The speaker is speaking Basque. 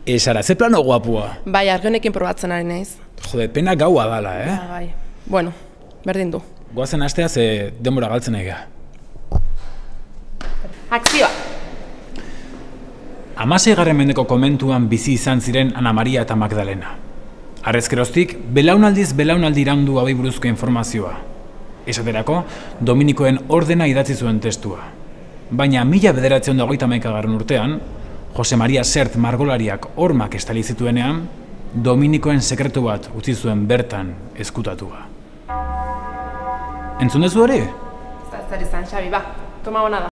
Esara, ze plano guapua. Bai, argi honekin probatzen ari naiz. Jode, pena gaua dala, Bai. Bueno, berdin du. Goazen astea ze denbora galtzen egea. Akzioa! 16. mendeko komentuan bizi izan ziren Ana Maria eta Magdalena. Harrezkeroztik, belaunaldiz belaunaldi iraundu hauei buruzko informazioa. Esaterako, Dominikoen ordena idatzi zuen testua. Baina 1991 urtean, Jose Maria Sert margolariak hormak estali zituenean, Dominikoen sekretu bat utzi zuen bertan ezkutatua. Entzun dezu hori? Ez da izan, Xabi, ba, toma hona da.